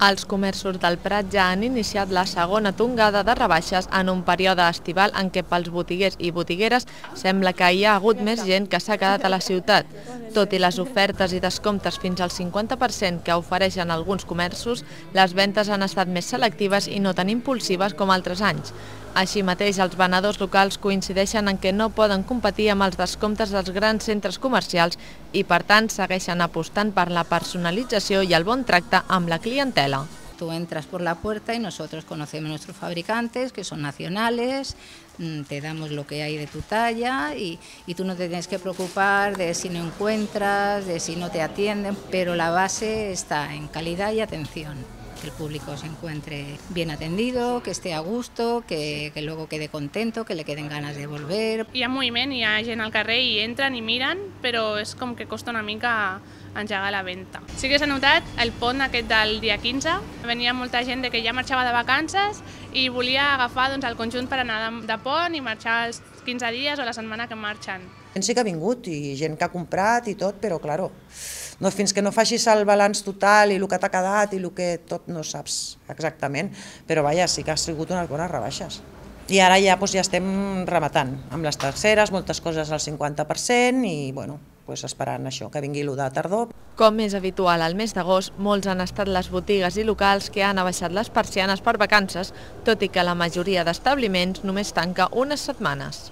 Els comerços del Prat ja han iniciat la segona tongada de rebaixes en un període estival en què pels botiguers i botigueres sembla que hi ha hagut més gent que s'ha quedat a la ciutat. Tot i les ofertes i descomptes fins al 50% que ofereixen alguns comerços, les ventes han estat més selectives i no tan impulsives com altres anys. Així mateix, els venedors locals coincideixen en que no poden competir amb els descomptes dels grans centres comercials i, per tant, segueixen apostant per la personalització i el bon tracte amb la clientela. Tú entras por la puerta y nosotros conocemos a nuestros fabricantes, que son nacionales, te damos lo que hay de tu talla y tú no te tienes que preocupar de si no encuentras, de si no te atienden, pero la base está en calidad y atención. Que el público se encuentre bien atendido, que esté a gusto, que luego quede contento, que le queden ganas de volver. Hi ha moviment, hi ha gent al carrer i entren i miren, però és com que costa una mica engegar la venda. Sí que s'ha notat el pont aquest del dia 15, venia molta gent que ja marxava de vacances i volia agafar el conjunt per anar de pont i marxar els 15 dies o la setmana que marxen. Gent sí que ha vingut i gent que ha comprat i tot, però claro, no, fins que no facis el balanç total i el que t'ha quedat i el que tot no saps exactament, però vaja, sí que ha sigut unes bones rebaixes. I ara ja estem rematant amb les terceres, moltes coses al 50% i bueno, esperant això, que vingui l'1 de tardor. Com és habitual al mes d'agost, molts han estat les botigues i locals que han abaixat les persianes per vacances, tot i que la majoria d'establiments només tanca unes setmanes.